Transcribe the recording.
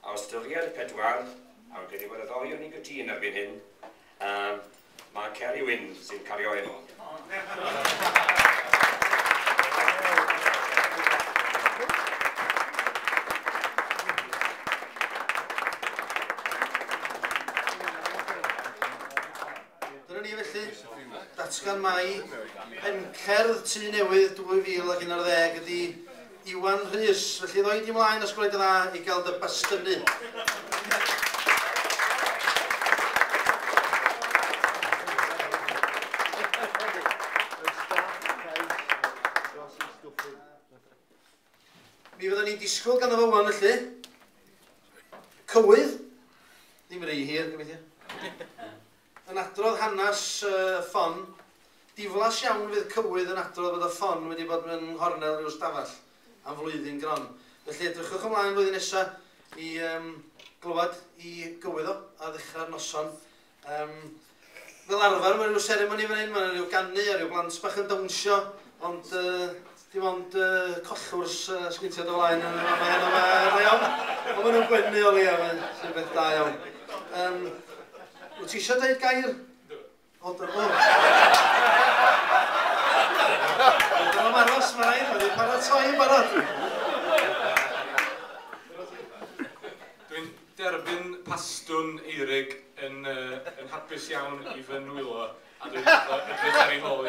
A o ystyried y pedwar, a wedi bod y ddoi o'n i'n gytûn erbyn hyn, mae Ceri Wyn sy'n cario heno. Dyna ni felly, datgan mai pencerdd Tŷ Newydd 2011 ydy Iwan Rhys. Felly ddoi di mlaen os gweled yn dda i gael dy bastynnu. Mi fyddwn ni'n disgwyl ganddo fo wan felly. Cywydd, ddim rhy hir, gobeithio. Yn adrodd hanes ffon. Diflas iawn fydd cywydd yn adrodd bod y ffon wedi bod mewn nghornel rhyw stafell am flwyddyn gron. Felly edrychwch ymlaen flwyddyn nesaf i glywed i gywydd o a ddechrau'r noson. Fel arfer mae rhyw seremoni fan hyn, mae rhyw ganu a rhyw blant bach yn dawnsio, ond dim ond collwrs sgwyntiad o flaen yn y fan yma, da iawn. Ond maen nhw'n gwenu o leia, mae'n rhywbeth da iawn. Wyt ti eisiau dweud gair? O, o. Dyna aros, mae rhaid, mae wedi paratoi yn barod. Dwi'n derbyn pastwn Eirig yn hapus iawn i fy nwylo, a dwi'n edrych ar ei hôl i.